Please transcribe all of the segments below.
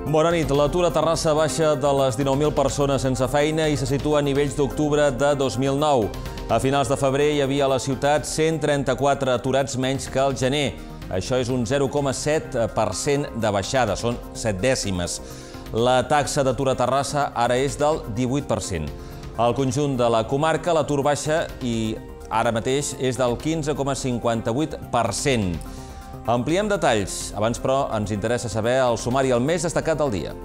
Bona nit. L'atur a Terrassa baixa de les 19.000 persones sense feina i se situa a nivells d'octubre de 2009. A finals de febrer hi havia a la ciutat 134 aturats menys que al gener. Això és un 0,7% de baixada, són 7 dècimes. La taxa d'atur a Terrassa ara és del 18%. Al conjunt de la comarca l'atur baixa i ara mateix és del 15,58%. Ampliem detalls. Abans, però, ens interessa saber el sumari el més destacat del dia.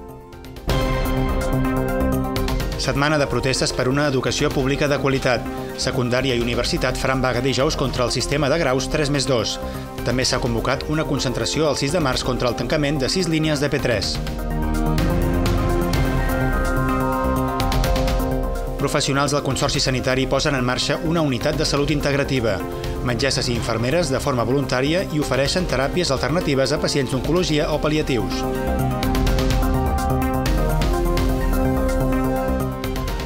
Setmana de protestes per una educació pública de qualitat. Secundària i universitat faran vaga dijous contra el sistema de graus 3+2. També s'ha convocat una concentració el 6 de març contra el tancament de 6 línies de P3. Professionals del Consorci Sanitari posen en marxa una unitat de salut integrativa. Metgesses i infermeres de forma voluntària i ofereixen teràpies alternatives a pacients d'oncologia o pal·liatius.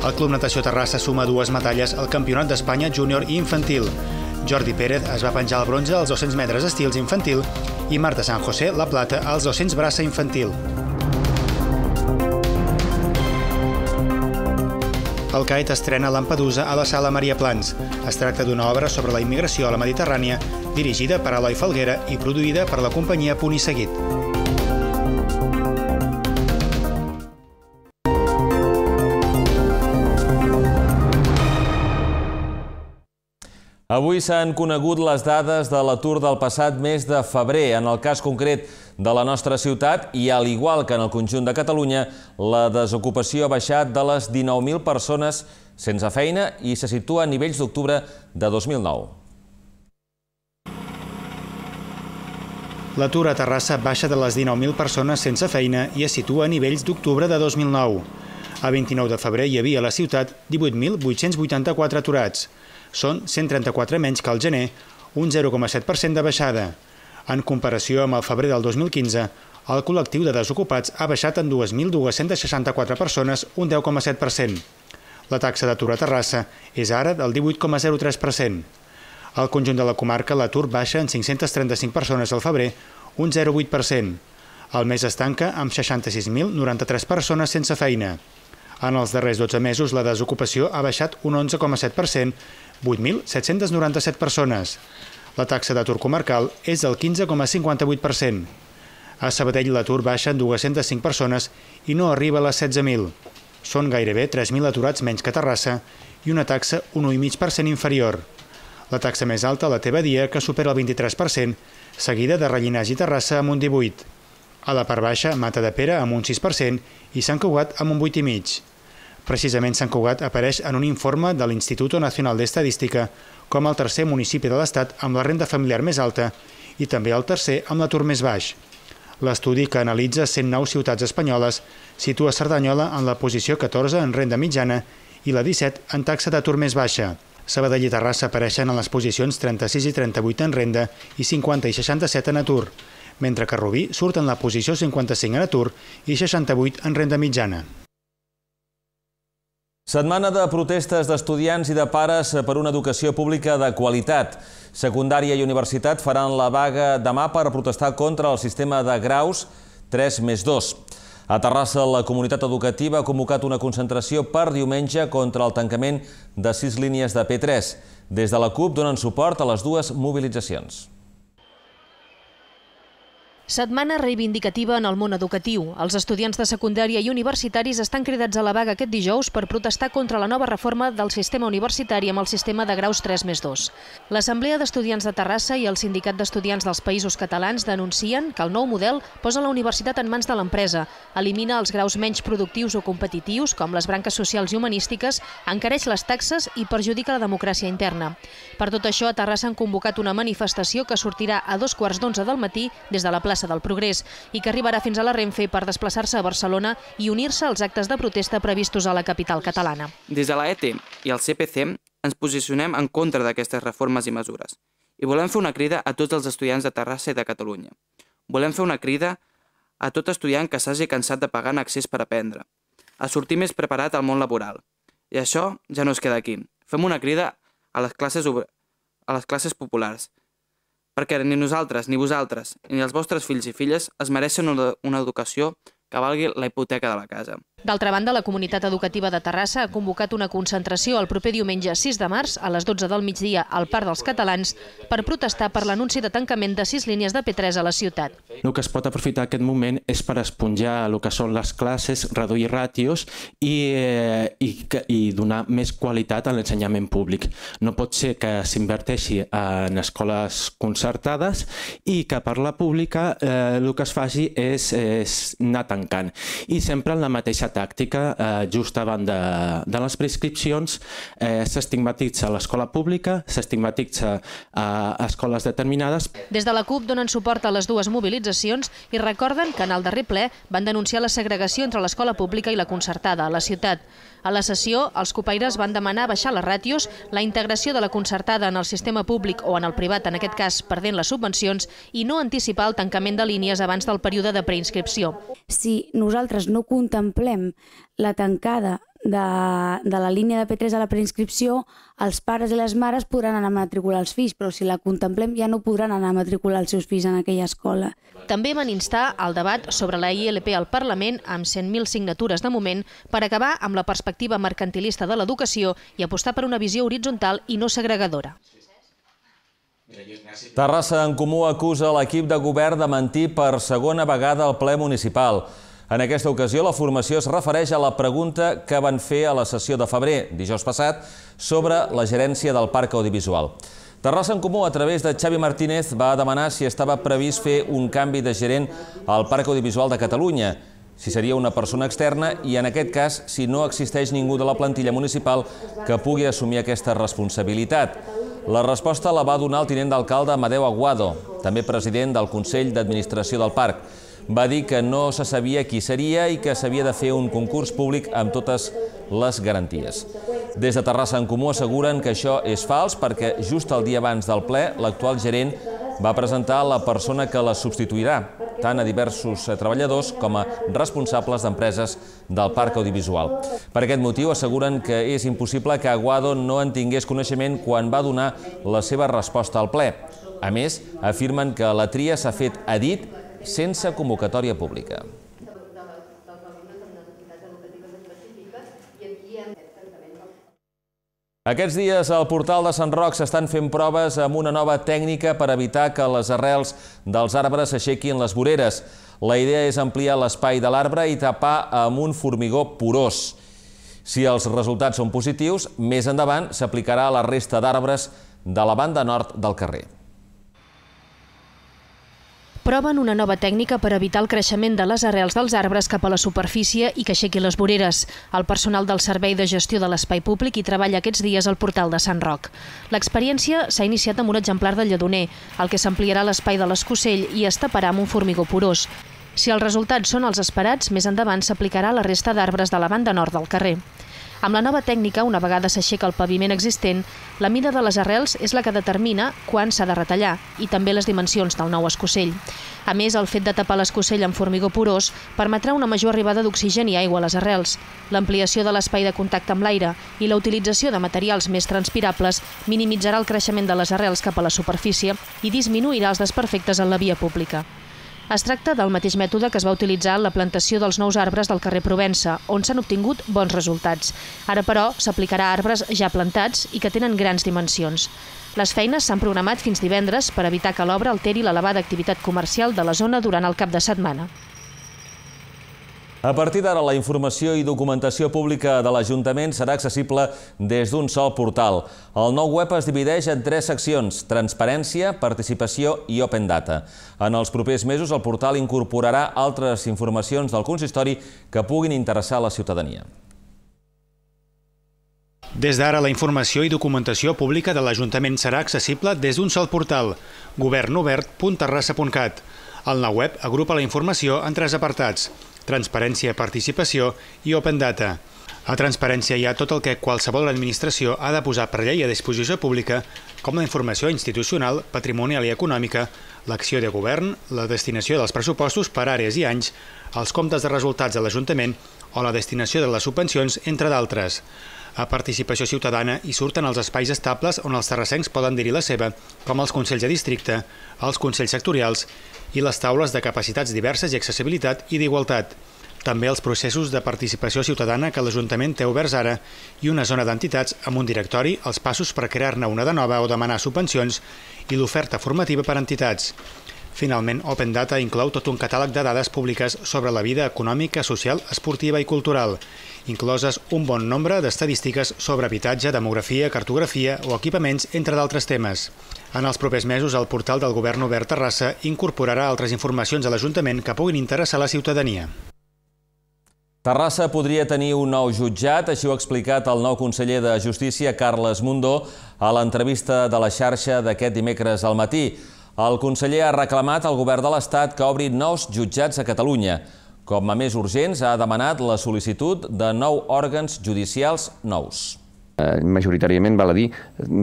El Club Natació Terrassa suma 2 medalles al Campionat d'Espanya júnior i infantil. Jordi Pérez es va penjar el bronze als 200 metres estils infantil i Marta San José la plata als 200 braça infantil. El CAET estrena Lampedusa a la Sala Maria Plans. Es tracta d'una obra sobre la immigració a la Mediterrània, dirigida per Eloi Falguera i produïda per la companyia Punt i Seguit. Avui s'han conegut les dades de l'atur del passat mes de febrer. En el cas concret de la nostra ciutat, i al igual que en el conjunt de Catalunya, la desocupació ha baixat de les 19.000 persones sense feina i se situa a nivells d'octubre de 2009. L'atur a Terrassa baixa de les 19.000 persones sense feina i es situa a nivells d'octubre de 2009. A 29 de febrer hi havia a la ciutat 18.884 aturats. Són 134 menys que al gener, un 0,7% de baixada. En comparació amb el febrer del 2015, el col·lectiu de desocupats ha baixat en 2.264 persones, un 10,7%. La taxa d'atur a Terrassa és ara del 18,03%. Al conjunt de la comarca, l'atur baixa en 535 persones al febrer, un 0,8%. El mes es tanca amb 66.093 persones sense feina. En els darrers 12 mesos, la desocupació ha baixat un 11,7%, 8.797 persones. La taxa d'atur comarcal és del 15,58%. A Sabadell l'atur baixa en 205 persones i no arriba a les 16.000. Són gairebé 3.000 aturats menys que Terrassa i una taxa un 1,5% inferior. La taxa més alta la té Badia, que supera el 23%, seguida de Rellinars i Terrassa amb un 18%. A la part baixa, Matadepera amb un 6% i Sant Cugat amb un 8,5%. Precisament Sant Cugat apareix en un informe de l'Instituto Nacional d'Estadística com el tercer municipi de l'Estat amb la renda familiar més alta i també el tercer amb l'atur més baix. L'estudi, que analitza 109 ciutats espanyoles, situa Cerdanyola en la posició 14 en renda mitjana i la 17 en taxa d'atur més baixa. Sabadell i Terrassa apareixen en les posicions 36 i 38 en renda i 50 i 67 en atur, mentre que Rubí surt en la posició 55 en atur i 68 en renda mitjana. Setmana de protestes d'estudiants i de pares per una educació pública de qualitat. Secundària i universitat faran la vaga demà per protestar contra el sistema de graus 3+2. A Terrassa, la comunitat educativa ha convocat una concentració per diumenge contra el tancament de 6 línies de P3. Des de la CUP donen suport a les dues mobilitzacions. Setmana reivindicativa en el món educatiu. Els estudiants de secundària i universitaris estan cridats a la vaga aquest dijous per protestar contra la nova reforma del sistema universitari amb el sistema de graus 3+2. L'Assemblea d'Estudiants de Terrassa i el Sindicat d'Estudiants dels Països Catalans denuncien que el nou model posa la universitat en mans de l'empresa, elimina els graus menys productius o competitius, com les branques socials i humanístiques, encareix les taxes i perjudica la democràcia interna. Per tot això, a Terrassa han convocat una manifestació que sortirà a 2:15 del matí des de la plaça del Progrés i que arribarà fins a la Renfe per desplaçar-se a Barcelona i unir-se als actes de protesta previstos a la capital catalana. Des de la ET i el CPC ens posicionem en contra d'aquestes reformes i mesures i volem fer una crida a tots els estudiants de Terrassa i de Catalunya. Volem fer una crida a tot estudiant que s'hagi cansat de pagar en accés per aprendre, a sortir més preparat al món laboral. I això ja no es queda aquí. Fem una crida a les classes populars, perquè ni nosaltres, ni vosaltres, ni els vostres fills i filles es mereixen una educació que valgui la hipoteca de la casa. D'altra banda, la Comunitat Educativa de Terrassa ha convocat una concentració el proper diumenge 6 de març a les 12 del migdia al Parc dels Catalans per protestar per l'anunci de tancament de 6 línies de P3 a la ciutat. El que es pot aprofitar aquest moment és per esponjar el que són les classes, reduir ràtios i donar més qualitat a l'ensenyament públic. No pot ser que s'inverteixi en escoles concertades i que per la pública el que es faci és anar tancant. I sempre en la mateixa tàctica, just abans de les prescripcions, s'estigmatitza l'escola pública, s'estigmatitza a escoles determinades. Des de la CUP donen suport a les dues mobilitzacions i recorden que en el darrer ple van denunciar la segregació entre l'escola pública i la concertada a la ciutat. A la sessió, els copaires van demanar baixar les ràtios, la integració de la concertada en el sistema públic o en el privat, en aquest cas perdent les subvencions, i no anticipar el tancament de línies abans del període de preinscripció. Si nosaltres no contemplem la tancada de la línia de P3 a la preinscripció, els pares i les mares podran anar a matricular els fills, però si la contemplem ja no podran anar a matricular els seus fills en aquella escola. També van instar al debat sobre la ILP al Parlament, amb 100.000 signatures de moment, per acabar amb la perspectiva mercantilista de l'educació i apostar per una visió horitzontal i no segregadora. Terrassa en Comú acusa l'equip de govern de mentir per segona vegada al ple municipal. En aquesta ocasió, la formació es refereix a la pregunta que van fer a la sessió de febrer, dijous passat, sobre la gerència del Parc Audiovisual. Terrassa en Comú, a través de Xavi Martínez, va demanar si estava previst fer un canvi de gerent al Parc Audiovisual de Catalunya, si seria una persona externa i, en aquest cas, si no existeix ningú de la plantilla municipal que pugui assumir aquesta responsabilitat. La resposta la va donar el tinent d'alcalde Amadeu Aguado, també president del Consell d'Administració del Parc. Va dir que no se sabia qui seria i que s'havia de fer un concurs públic amb totes les garanties. Des de Terrassa en Comú asseguren que això és fals perquè just el dia abans del ple l'actual gerent va presentar la persona que la substituirà, tant a diversos treballadors com a responsables d'empreses del Parc Audiovisual. Per aquest motiu asseguren que és impossible que Aguado no en tingués coneixement quan va donar la seva resposta al ple. A més, afirmen que la tria s'ha fet a dit sense convocatòria pública. Aquests dies al portal de Sant Roc s'estan fent proves amb una nova tècnica per evitar que les arrels dels arbres s'aixequin les voreres. La idea és ampliar l'espai de l'arbre i tapar amb un formigó porós. Si els resultats són positius, més endavant s'aplicarà a la resta d'arbres de la banda nord del carrer. Proven una nova tècnica per evitar el creixement de les arrels dels arbres cap a la superfície i que aixequi les voreres. El personal del Servei de Gestió de l'Espai Públic hi treballa aquests dies al portal de Sant Roc. L'experiència s'ha iniciat amb un exemplar de lledoner, el que s'ampliarà l'espai de l'escocell i es taparà amb un formigó porós. Si els resultats són els esperats, més endavant s'aplicarà a la resta d'arbres de la banda nord del carrer. Amb la nova tècnica, una vegada s'aixeca el paviment existent, la mida de les arrels és la que determina quan s'ha de retallar i també les dimensions del nou escocell. A més, el fet de tapar l'escocell amb formigó porós permetrà una major arribada d'oxigen i aigua a les arrels, l'ampliació de l'espai de contacte amb l'aire i la utilització de materials més transpirables minimitzarà el creixement de les arrels cap a la superfície i disminuirà els desperfectes en la via pública. Es tracta del mateix mètode que es va utilitzar en la plantació dels nous arbres del carrer Provença, on s'han obtingut bons resultats. Ara, però, s'aplicarà a arbres ja plantats i que tenen grans dimensions. Les feines s'han programat fins divendres per evitar que l'obra alteri l'elevada activitat comercial de la zona durant el cap de setmana. A partir d'ara, la informació i documentació pública de l'Ajuntament serà accessible des d'un sol portal. El nou web es divideix en 3 seccions: transparència, participació i open data. En els propers mesos, el portal incorporarà altres informacions del consistori que puguin interessar a la ciutadania. Des d'ara, la informació i documentació pública de l'Ajuntament serà accessible des d'un sol portal: governobert.terrassa.cat. El nou web agrupa la informació en 3 apartats: transparència, participació i open data. A transparència hi ha tot el que qualsevol administració ha de posar per llei a disposició pública, com la informació institucional, patrimonial i econòmica, l'acció de govern, la destinació dels pressupostos per àrees i anys, els comptes de resultats de l'Ajuntament o la destinació de les subvencions, entre d'altres. A participació ciutadana hi surten els espais estables on els terrassencs poden dir-hi la seva, com els consells de districte, els consells sectorials i les taules de capacitats diverses i accessibilitat i d'igualtat. També els processos de participació ciutadana que l'Ajuntament té oberts ara i una zona d'entitats amb un directori, els passos per crear-ne una de nova o demanar subvencions i l'oferta formativa per a entitats. Finalment, Open Data inclou tot un catàleg de dades públiques sobre la vida econòmica, social, esportiva i cultural, incloses un bon nombre d'estadístiques sobre habitatge, demografia, cartografia o equipaments, entre d'altres temes. En els propers mesos, el portal del Govern Obert Terrassa incorporarà altres informacions a l'Ajuntament que puguin interessar a la ciutadania. Terrassa podria tenir un nou jutjat, així ho ha explicat el nou conseller de Justícia, Carles Mundó, a l'entrevista de la xarxa d'aquest dimecres al matí. El conseller ha reclamat al govern de l'Estat que obri nous jutjats a Catalunya. Com a més urgents, ha demanat la sol·licitud de 9 òrgans judicials nous. Majoritàriament, val a dir,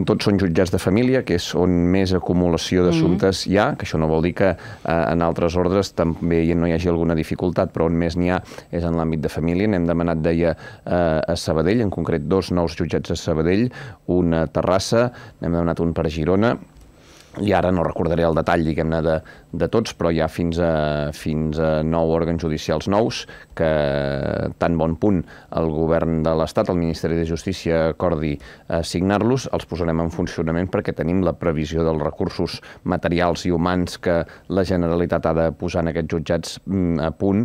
tots són jutjats de família, que és on més acumulació d'assumptes hi ha, que això no vol dir que en altres ordres també no hi hagi alguna dificultat, però on més n'hi ha és en l'àmbit de família. N'hem demanat, deia, a Sabadell, en concret 2 nous jutjats a Sabadell, un a Terrassa, n'hem demanat un per a Girona, i ara no recordaré el detall, diguem-ne, de tots, però hi ha fins a 9 òrgans judicials nous que, tan bon punt el govern de l'Estat, el Ministeri de Justícia, acordi signar-los, els posarem en funcionament perquè tenim la previsió dels recursos materials i humans que la Generalitat ha de posar en aquests jutjats a punt.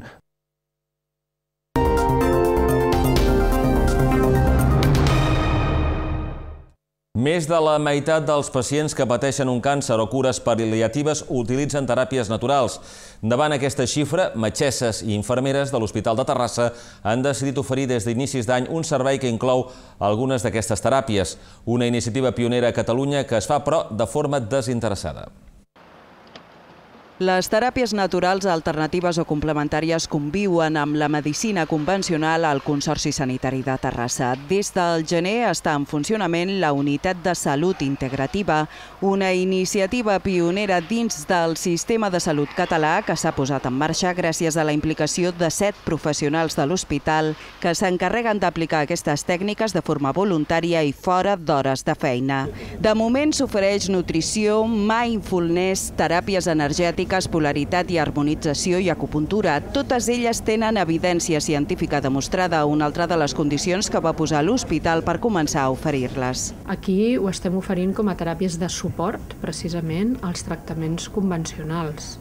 Més de la meitat dels pacients que pateixen un càncer o cures pal·liatives utilitzen teràpies naturals. Davant aquesta xifra, metgesses i infermeres de l'Hospital de Terrassa han decidit oferir des d'inicis d'any un servei que inclou algunes d'aquestes teràpies. Una iniciativa pionera a Catalunya que es fa, però, de forma desinteressada. Les teràpies naturals alternatives o complementàries conviuen amb la medicina convencional al Consorci Sanitari de Terrassa. Des del gener està en funcionament la Unitat de Salut Integrativa, una iniciativa pionera dins del sistema de salut català que s'ha posat en marxa gràcies a la implicació de 7 professionals de l'hospital que s'encarreguen d'aplicar aquestes tècniques de forma voluntària i fora d'hores de feina. De moment s'ofereix nutrició, mindfulness, teràpies energètiques, polaritat i harmonització i acupuntura. Totes elles tenen evidència científica demostrada, una altra de les condicions que va posar l'hospital per començar a oferir-les. Aquí ho estem oferint com a teràpies de suport, precisament, als tractaments convencionals.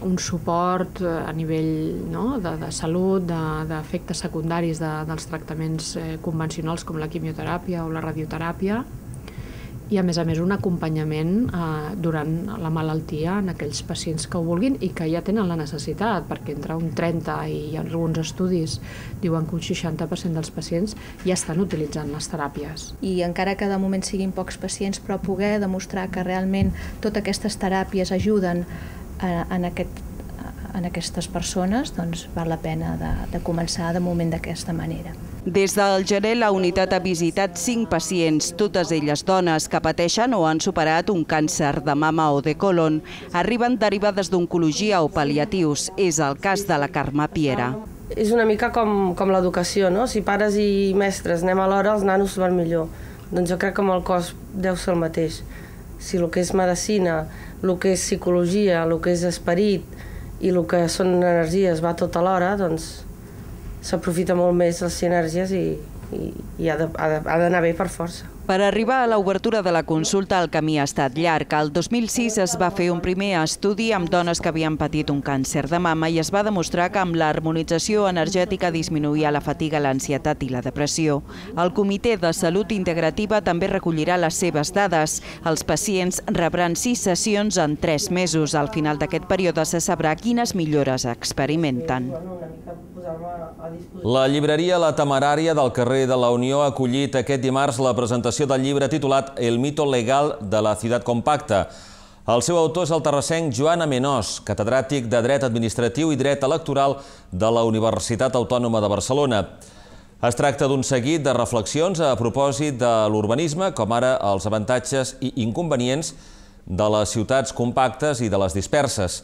Un suport a nivell de salut, d'efectes secundaris dels tractaments convencionals com la quimioteràpia o la radioteràpia, i a més un acompanyament durant la malaltia en aquells pacients que ho vulguin i que ja tenen la necessitat, perquè entre un 30 i alguns estudis diuen que un 60% dels pacients ja estan utilitzant les teràpies. I encara que de moment siguin pocs pacients, però poder demostrar que realment totes aquestes teràpies ajuden en aquestes persones, doncs val la pena de començar de moment d'aquesta manera. Des del gener, la unitat ha visitat 5 pacients, totes elles dones que pateixen o han superat un càncer de mama o de colon. Arriben derivades d'oncologia o pal·liatius. És el cas de la Carme Piera. És una mica com l'educació, no? Si pares i mestres anem a l'hora, els nanos van millor. Doncs jo crec que amb el cos deu ser el mateix. Si el que és medicina, el que és psicologia, el que és esperit i el que són energies va tot alhora, doncs s'aprofita molt més les sinergies i ha d'anar bé per força. Per arribar a l'obertura de la consulta, el camí ha estat llarg. El 2006 es va fer un primer estudi amb dones que havien patit un càncer de mama i es va demostrar que amb l'harmonització energètica disminuïa la fatiga, l'ansietat i la depressió. El Comitè de Salut Integrativa també recollirà les seves dades. Els pacients rebran 6 sessions en 3 mesos. Al final d'aquest període se sabrà quines millores experimenten. La llibreria La Temerària del carrer de la Unió ha acollit aquest dimarts la presentació del llibre titulat El mito legal de la ciutat compacta. El seu autor és el terrassenc Joan Amenós, catedràtic de Dret Administratiu i Dret Electoral de la Universitat Autònoma de Barcelona. Es tracta d'un seguit de reflexions a propòsit de l'urbanisme, com ara els avantatges i inconvenients de les ciutats compactes i de les disperses.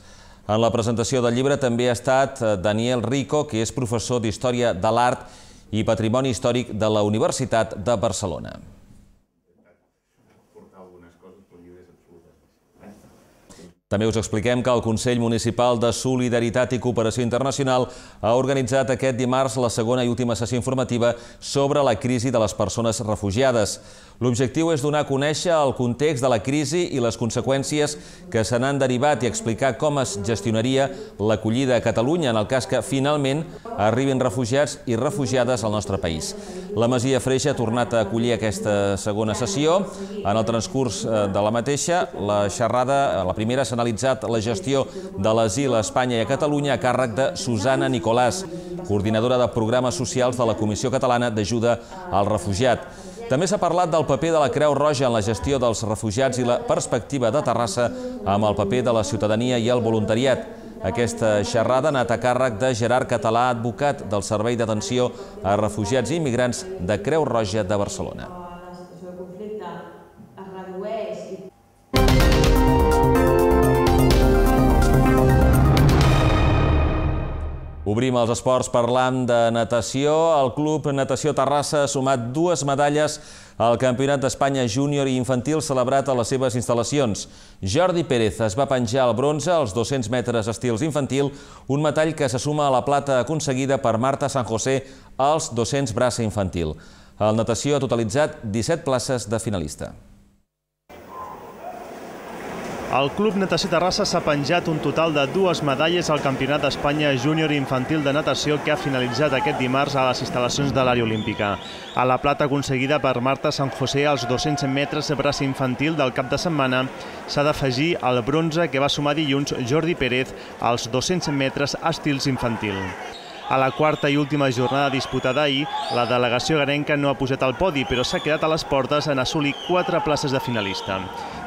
En la presentació del llibre també ha estat Daniel Rico, que és professor d'Història de l'Art i Patrimoni Històric de la Universitat de Barcelona. També us expliquem que el Consell Municipal de Solidaritat i Cooperació Internacional ha organitzat aquest dimarts la segona i última sessió informativa sobre la crisi de les persones refugiades. L'objectiu és donar a conèixer el context de la crisi i les conseqüències que se n'han derivat i explicar com es gestionaria l'acollida a Catalunya en el cas que finalment arribin refugiats i refugiades al nostre país. La Masia Freixa ha tornat a acollir aquesta segona sessió. En el transcurs de la mateixa, la primera s'ha analitzat la gestió de l'asil a Espanya i a Catalunya a càrrec de Susana Nicolàs, coordinadora de programes socials de la Comissió Catalana d'Ajuda al Refugiat. També s'ha parlat del paper de la Creu Roja en la gestió dels refugiats i la perspectiva de Terrassa amb el paper de la ciutadania i el voluntariat. Aquesta xerrada ha anat a càrrec de Gerard Català, advocat del Servei d'Atenció a Refugiats i Immigrants de Creu Roja de Barcelona. Obrim els esports parlant de natació. El Club Natació Terrassa ha sumat 2 medalles al Campionat d'Espanya júnior i infantil celebrat a les seves instal·lacions. Jordi Pérez es va penjar el bronze als 200 metres estils infantil, un metall que se suma a la plata aconseguida per Marta San José als 200 braça infantil. El natació ha totalitzat 17 places de finalista. El Club Natació Terrassa s'ha penjat un total de 2 medalles al Campionat d'Espanya júnior i infantil de natació que ha finalitzat aquest dimarts a les instal·lacions de l'àrea olímpica. A la plata aconseguida per Marta San José als 200 metres braç infantil del cap de setmana s'ha d'afegir el bronze que va sumar dilluns Jordi Pérez als 200 metres estils infantil. A la quarta i última jornada disputada ahir, la delegació garenca no ha posat al podi, però s'ha quedat a les portes en assolir 4 places de finalista.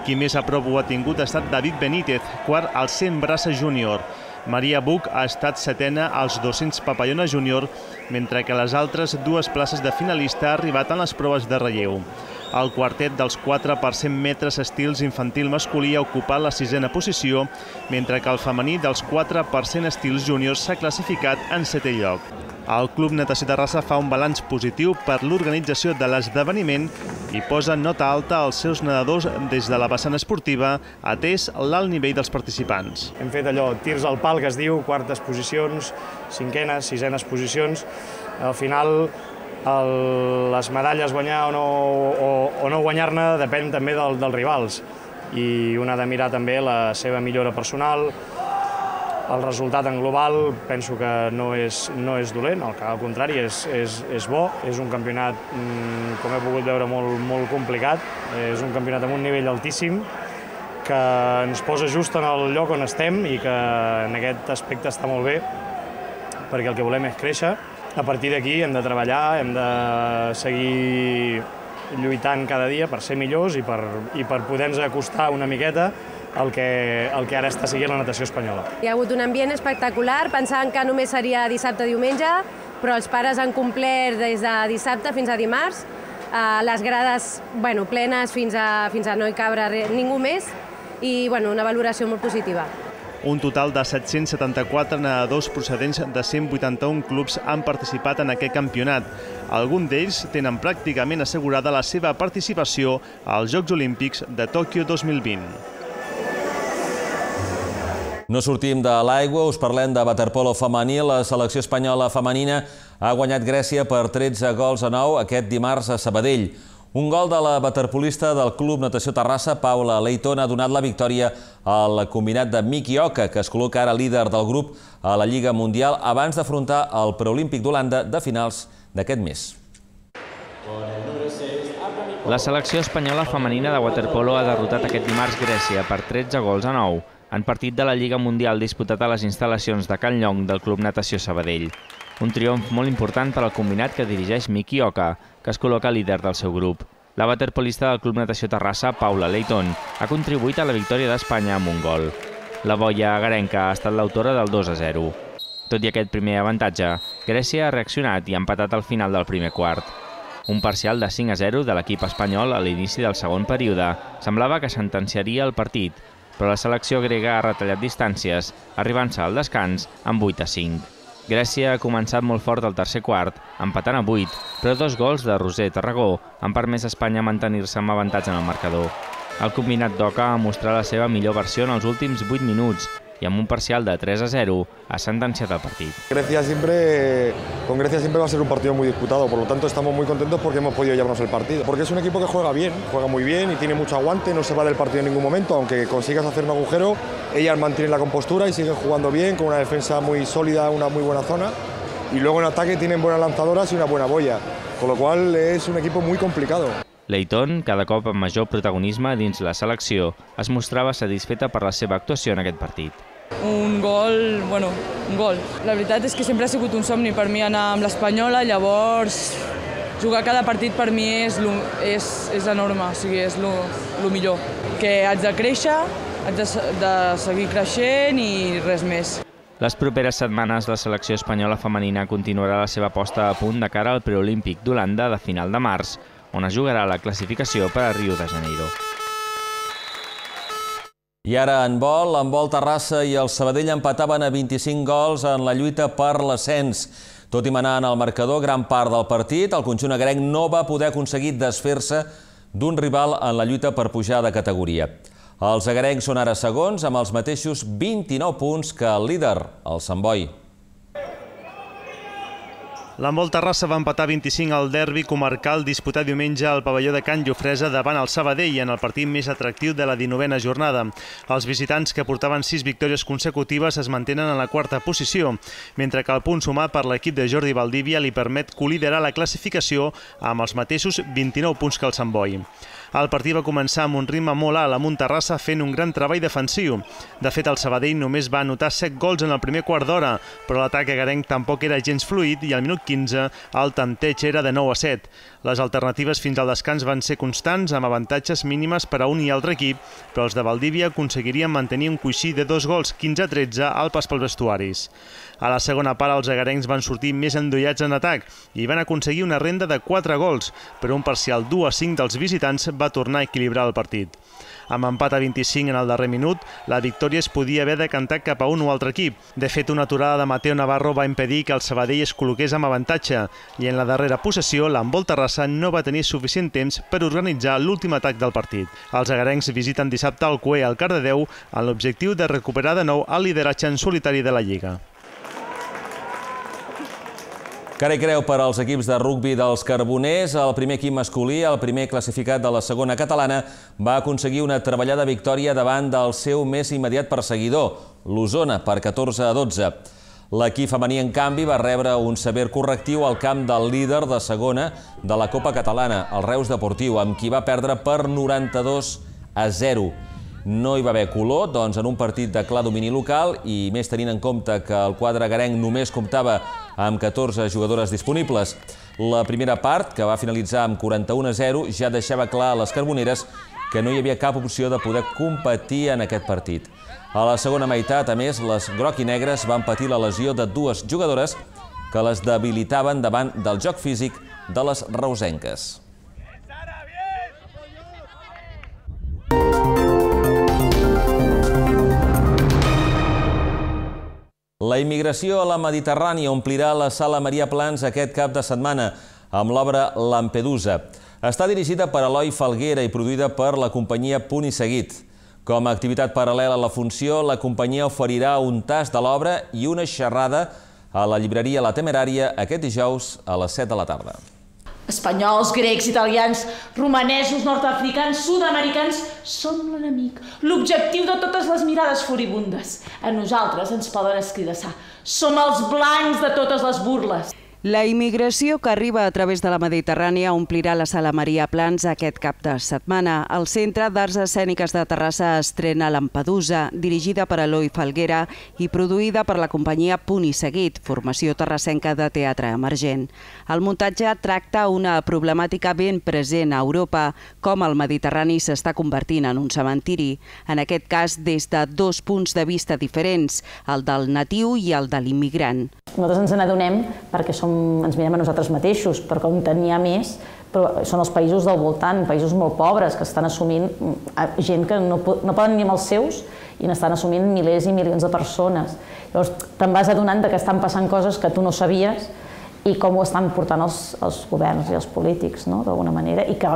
Qui més a prop ho ha tingut ha estat David Benítez, quart al 100 braça júnior. Maria Buch ha estat setena als 200 papallona júnior, mentre que les altres 2 places de finalista ha arribat en les proves de relleu. El quartet dels 4 per 100 metres estils infantil masculí ha ocupat la 6a posició, mentre que el femení dels 4 per 100 estils júniors s'ha classificat en 7è lloc. El Club Natació Terrassa fa un balanç positiu per l'organització de l'esdeveniment i posa nota alta als seus nedadors des de la vessant esportiva, atès l'alt nivell dels participants. Hem fet allò, tirs al pal, que es diu, quartes posicions, 5enes, 6enes posicions. Al final, les medalles guanyar o no guanyar-ne depèn també dels rivals. I un ha de mirar també la seva millora personal. El resultat en global penso que no és dolent, al contrari, és bo. És un campionat, com he pogut veure, molt complicat. És un campionat amb un nivell altíssim que ens posa just en el lloc on estem i que en aquest aspecte està molt bé, perquè el que volem és créixer. A partir d'aquí hem de treballar, hem de seguir lluitant cada dia per ser millors i per poder-nos acostar una miqueta el que ara està seguint la natació espanyola. Hi ha hagut un ambient espectacular, pensàvem que només seria dissabte-diumenge, però els pares han complert des de dissabte fins a dimarts, les grades plenes fins a no hi cabre ningú més i una valoració molt positiva. Un total de 774 nedadors procedents de 181 clubs han participat en aquest campionat. Alguns d'ells tenen pràcticament assegurada la seva participació als Jocs Olímpics de Tòquio 2020. No sortim de l'aigua, us parlem de waterpolo femení. La selecció espanyola femenina ha guanyat Grècia per 13-9 aquest dimarts a Sabadell. Un gol de la waterpolista del Club Natació Terrassa, Paula Leighton, ha donat la victòria al combinat de Miki Oka, que es col·loca ara líder del grup a la Lliga Mundial abans d'afrontar el preolímpic d'Holanda de finals d'aquest mes. La selecció espanyola femenina de waterpolo ha derrotat aquest dimarts Grècia per 13-9 en partit de la Lliga Mundial disputat a les instal·lacions de Can Llong del Club Natació Sabadell. Un triomf molt important per al combinat que dirigeix Miki Oka, que es col·loca líder del seu grup. La waterpolista del Club Natació Terrassa, Paula Leighton, ha contribuït a la victòria d'Espanya amb un gol. La boia agarenca ha estat l'autora del 2-0. Tot i aquest primer avantatge, Grècia ha reaccionat i ha empatat al final del primer quart. Un parcial de 5-0 de l'equip espanyol a l'inici del segon període semblava que sentenciaria el partit, però la selecció grega ha retallat distàncies, arribant-se al descans amb 8-5. Grècia ha començat molt fort al tercer quart, empatant a 8, però 2 gols de Roser Tarragó han permès a Espanya mantenir-se amb avantatge en el marcador. El combinat d'Oca ha mostrat la seva millor versió en els últims 8 minuts i amb un parcial de 3-0 ha sentenciat el partit. Con Grecia siempre va a ser un partido muy disputado, por lo tanto estamos muy contentos porque hemos podido llevarnos el partido. Porque es un equipo que juega bien, juega muy bien y tiene mucho aguante, no se va del partido en ningún momento, aunque consigas hacer un agujero, ellas mantienen la compostura y siguen jugando bien, con una defensa muy sólida, una muy buena zona, y luego en ataque tienen buenas lanzadoras y una buena boya, con lo cual es un equipo muy complicado. Leighton, cada cop amb major protagonisme dins la selecció, es mostrava satisfeta per la seva actuació en aquest partit. Un gol. La veritat és que sempre ha sigut un somni per mi anar amb l'Espanyola, llavors jugar cada partit per mi és enorme, o sigui, és el millor. Que haig de créixer, haig de seguir creixent i res més. Les properes setmanes la selecció espanyola femenina continuarà la seva posta a punt de cara al preolímpic d'Holanda de final de març, on es jugarà la classificació per a Rio de Janeiro. I ara en vol Terrassa i el Sabadell empataven a 25 gols en la lluita per l'ascens. Tot i manar en el marcador gran part del partit, el conjunt agrenc no va poder aconseguir desfer-se d'un rival en la lluita per pujar de categoria. Els agrencs són ara segons amb els mateixos 29 punts que el líder, el Sant Boi. L'Handbol Terrassa va empatar 25 al derbi comarcal disputat diumenge al pavelló de Can Llofresa davant el Sabadell en el partit més atractiu de la 19a jornada. Els visitants, que portaven 6 victòries consecutives, es mantenen en la quarta posició, mentre que el punt sumat per l'equip de Jordi Valdivia li permet coliderar la classificació amb els mateixos 29 punts que el Sant Boi. El partit va començar amb un ritme molt alt amb un Terrassa fent un gran treball defensiu. De fet, el Sabadell només va anotar 7 gols en el primer quart d'hora, però l'atac agrenc tampoc era gens fluid i al minut 15 el tanteig era de 9-7. Les alternatives fins al descans van ser constants, amb avantatges mínimes per a un i altre equip, però els de Valdivia aconseguirien mantenir un coixí de 2 gols 15-13 al pas pels vestuaris. A la segona part, els agarencs van sortir més endollats en atac i van aconseguir una renda de 4 gols, però un parcial 2-5 dels visitants va tornar a equilibrar el partit. Amb empat a 25 en el darrer minut, la victòria es podia haver decantat cap a un o altre equip. De fet, una aturada de Mateo Navarro va impedir que el Sabadell es col·loqués amb avantatge i en la darrera possessió l'Handbol Terrassa no va tenir suficient temps per organitzar l'últim atac del partit. Els agarencs visiten dissabte el CUE al Cardedeu amb l'objectiu de recuperar de nou el lideratge en solitari de la Lliga. Cara i creu per als equips de rugbi dels Carboners. El primer equip masculí, el primer classificat de la segona catalana, va aconseguir una treballada victòria davant del seu més immediat perseguidor, l'Osona, per 14-12. L'equip femení, en canvi, va rebre un sever correctiu al camp del líder de segona de la Copa Catalana, el Reus Deportiu, amb qui va perdre per 92-0. No hi va haver color, doncs, en un partit de clar domini local i més tenint en compte que el quadre agarenc només comptava amb 14 jugadores disponibles. La primera part, que va finalitzar amb 41-0, ja deixava clar a les carboneres que no hi havia cap opció de poder competir en aquest partit. A la segona meitat, a més, les groc i negres van patir la lesió de 2 jugadores que les debilitaven davant del joc físic de les reusenques. La immigració a la Mediterrània omplirà la Sala Maria Plans aquest cap de setmana amb l'obra Lampedusa. Està dirigida per Eloi Falguera i produïda per la companyia Punt i Seguit. Com a activitat paral·lela a la funció, la companyia oferirà un tast de l'obra i una xerrada a la llibreria La Temerària aquest dijous a les 7 de la tarda. Espanyols, grecs, italians, romanesos, nord-africans, sud-americans, som l'enemic, l'objectiu de totes les mirades furibundes. A nosaltres ens poden escridassar. Som els blancs de totes les burles. La immigració que arriba a través de la Mediterrània omplirà la Sala Maria Plans aquest cap de setmana. El Centre d'Arts Escèniques de Terrassa estrena Lampedusa, dirigida per Eloi Falguera i produïda per la companyia Punt i Seguit, formació terrassenca de teatre emergent. El muntatge tracta una problemàtica ben present a Europa, com el Mediterrani s'està convertint en un cementiri, en aquest cas des de 2 punts de vista diferents, el del natiu i el de l'immigrant. Nosaltres ens n'adonem perquè ens mirem a nosaltres mateixos, perquè on n'hi ha més són els països del voltant, països molt pobres que estan assumint gent que no poden ni amb els seus i n'estan assumint milers i milions de persones. Llavors te'n vas adonant que estan passant coses que tu no sabies i com ho estan portant els governs i els polítics, d'alguna manera, i que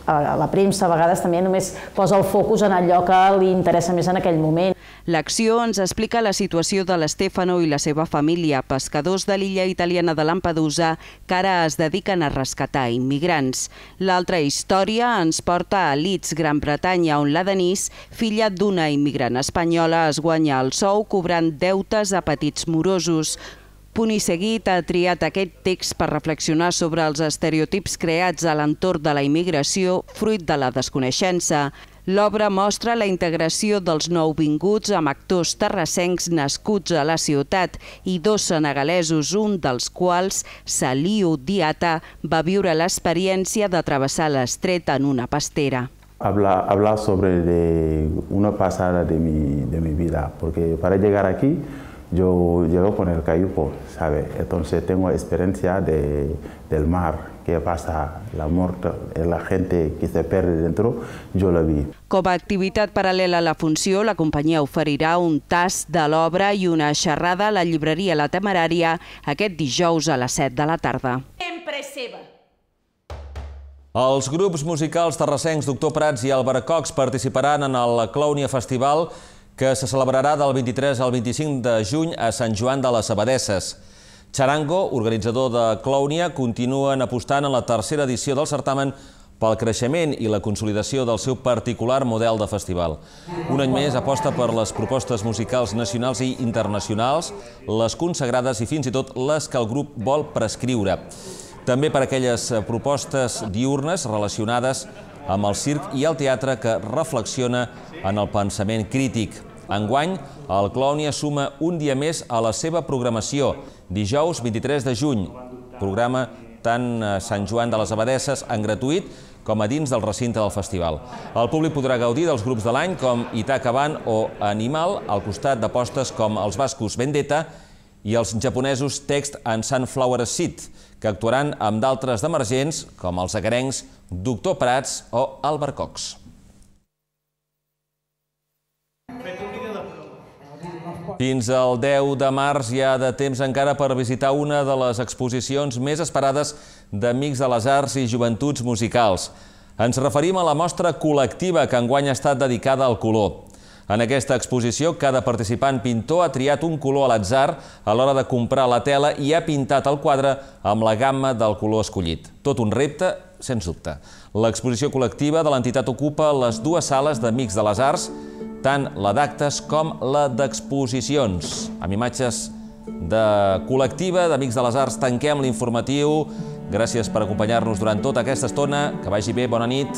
la premsa a vegades també només posa el focus en allò que li interessa més en aquell moment. L'acció ens explica la situació de l'Stefano i la seva família, pescadors de l'illa italiana de Lampedusa que ara es dediquen a rescatar immigrants. L'altra història ens porta a Leeds, Gran Bretanya, on la Denise, filla d'una immigrant espanyola, es guanya el sou cobrant deutes a petits morosos. Punt i seguit ha triat aquest text per reflexionar sobre els estereotips creats a l'entorn de la immigració fruit de la desconeixença. L'obra mostra la integració dels nouvinguts amb actors terrassencs nascuts a la ciutat i dos senegalesos, un dels quals, Saliu Diata, va viure l'experiència de travessar l'estret en una pastera. Hablar sobre una pasada de mi vida, porque para llegar aquí yo llego con el cayuco, ¿sabe? Entonces tengo experiencia del mar, que pasa, la muerte, la gente que se pierde dentro, yo la vi. Com a activitat paral·lela a la funció, la companyia oferirà un tast de l'obra i una xerrada a la llibreria La Temerària aquest dijous a les 7 de la tarda. Sempre seva. Els grups musicals terrassencs Doctor Prats i Albercocs participaran en el Clownia Festival que se celebrarà del 23 al 25 de juny a Sant Joan de les Abadesses. Charango, organitzador de Clownia, continuen apostant en la tercera edició del certamen pel creixement i la consolidació del seu particular model de festival. Un any més aposta per les propostes musicals nacionals i internacionals, les consagrades i fins i tot les que el grup vol prescriure. També per aquelles propostes diurnes relacionades amb el circ i el teatre que reflexiona en el pensament crític. Enguany, el Clownia suma un dia més a la seva programació, dijous 23 de juny. Programa tant a Sant Joan de les Abadesses en gratuït com a dins del recinte del festival. El públic podrà gaudir dels grups de l'any com Itaca Band o Animal, al costat d'apostes com els bascos Vendetta i els japonesos Text and Sunflower Seed, que actuaran amb d'altres d'emergents com els agarencs Doctor Prats o Albercocs. Fins al 10 de març hi ha de temps encara per visitar una de les exposicions més esperades d'Amics de les Arts i Joventuts Musicals. Ens referim a la mostra col·lectiva que enguany ha estat dedicada al color. En aquesta exposició, cada participant pintor ha triat un color a l'atzar a l'hora de comprar la tela i ha pintat el quadre amb la gamma del color escollit. Tot un repte, sens dubte. L'exposició col·lectiva de l'entitat ocupa les dues sales d'Amics de les Arts, tant la d'actes com la d'exposicions. Amb imatges de col·lectiva d'Amics de les Arts tanquem l'informatiu. Gràcies per acompanyar-nos durant tota aquesta estona. Que vagi bé, bona nit.